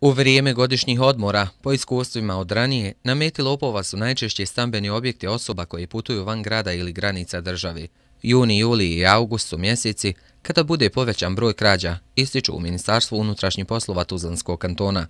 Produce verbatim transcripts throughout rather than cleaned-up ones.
U vrijeme godišnjih odmora, po iskustvima od ranije, na meti lopova su najčešće stambeni objekti osoba koji putuju van grada ili granica države. Juni, juli i august su mjeseci kada bude povećan broj krađa, ističu u Ministarstvu unutrašnjih poslova Tuzlanskog kantona.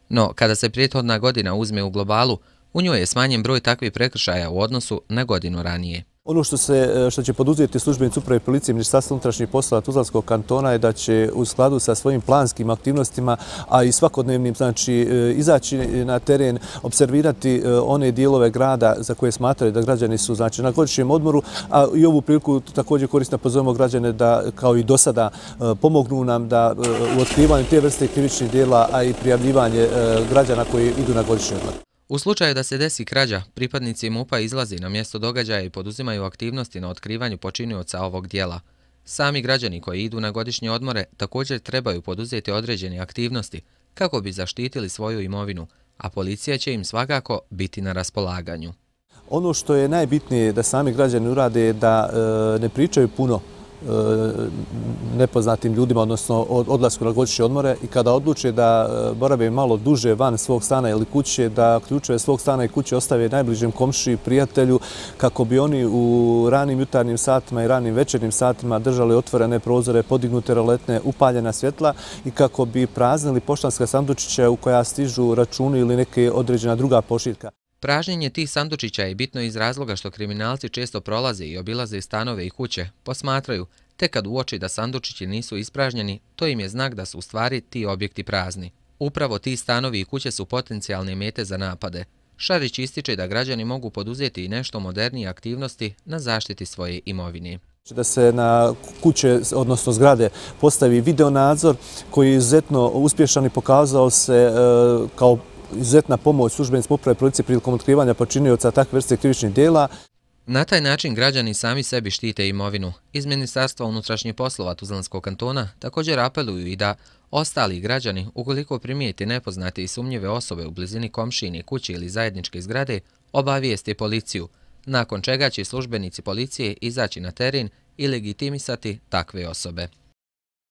No, kada se prethodna godina uzme u globalu, u njoj je smanjen broj takvih prekršaja u odnosu na godinu ranije. Ono što, se, što će poduzeti službenici uprave policije Ministarstva unutrašnjih poslova Tuzlanskog kantona je da će u skladu sa svojim planskim aktivnostima, a i svakodnevnim, znači, izaći na teren, observirati one dijelove grada za koje smatraju da građani su, znači, na godišnjem odmoru, a i ovu priliku također korisno pozovemo građane da, kao i do sada, pomognu nam da u otkrivanju te vrste krivičnih dijela, a i prijavljivanje građana koji idu na godišnji odmor. U slučaju da se desi krađa, pripadnici MUP-a izlazi na mjesto događaja i poduzimaju aktivnosti na otkrivanju počinioca ovog dijela. Sami građani koji idu na godišnje odmore također trebaju poduzeti određene aktivnosti kako bi zaštitili svoju imovinu, a policija će im svakako biti na raspolaganju. Ono što je najbitnije da sami građani urade je da e, ne pričaju puno nepoznatim ljudima, odnosno odlasku na godišnje odmore, i kada odluče da borave malo duže van svog stana ili kuće, da ključeve svog stana i kuće ostave najbližem komšiji, prijatelju, kako bi oni u ranim jutarnjim satima i ranim večernjim satima držali otvorene prozore, podignute roletne, upaljena svjetla i kako bi praznili poštanska sandučića u koja stižu računi ili neke određena druga pošiljka. Pražnjenje tih sandučića je bitno iz razloga što kriminalci često prolaze i obilaze stanove i kuće, posmatraju, te kad uoči da sandučići nisu ispražnjeni, to im je znak da su u stvari ti objekti prazni. Upravo ti stanovi i kuće su potencijalne mete za napade. Šarić ističe da građani mogu poduzeti i nešto modernije aktivnosti na zaštiti svoje imovine. Da se na kuće, odnosno zgrade, postavi videonadzor koji je izuzetno uspješan i pokazao se kao izuzetna pomoć službenicima uprave policije prilikom otkrivanja počinioca takve vrste krivičnih dijela. Na taj način građani sami sebi štite imovinu. Iz Ministarstva unutrašnjih poslova Tuzlanskog kantona također apeluju i da ostali građani, ukoliko primijete nepoznate i sumnjive osobe u blizini komšijine kuće ili zajedničke zgrade, obavijeste policiju, nakon čega će službenici policije izaći na teren i legitimisati takve osobe.